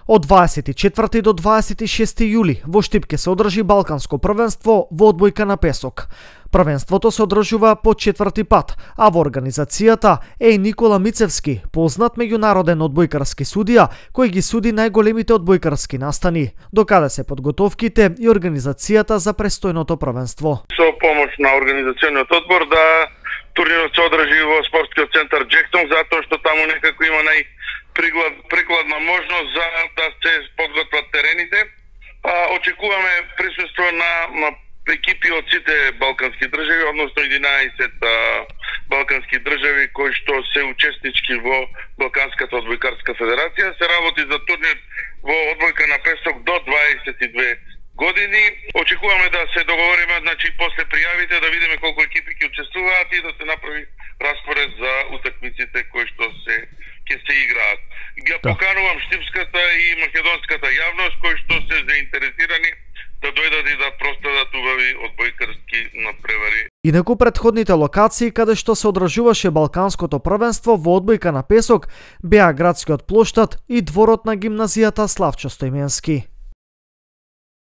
Од 24 до 26 јули во Штип ќе се одржи Балканско првенство во одбојка на песок. Првенството се одржува по 4-ти пат, а во организацијата е и Никола Мицевски, познат меѓународен одбојкарски судија, кој ги суди најголемите одбојкарски настани, докаде се подготовките и организацијата за престојното првенство. Со помош на организациониот одбор да турнирот се одржи во спортскиот центар Джектон, затоа што таму некако има прикладна можност за да се подготват терените. Очекуваме присуство на екипи од сите балкански држави, односно 11 балкански држави кои што се учеснички во Балканската одбојкарска федерација. Се работи за турнир во одбојка на песок до 22 години. Очекуваме да се договориме, значи после пријавите да видиме колку екипи ќе учествуваат и да се направи распоред за утакмиците кои што ќе се играат. Ги поканувам штипската и македонската јавност кои што се заинтересирани да дојдат и да проследат убави одбојкарски надпревари. Инаку претходните локации каде што се одржуваше Балканското првенство во одбојка на песок беа градскиот плоштад и дворот на гимназијата Славчо Стојменски.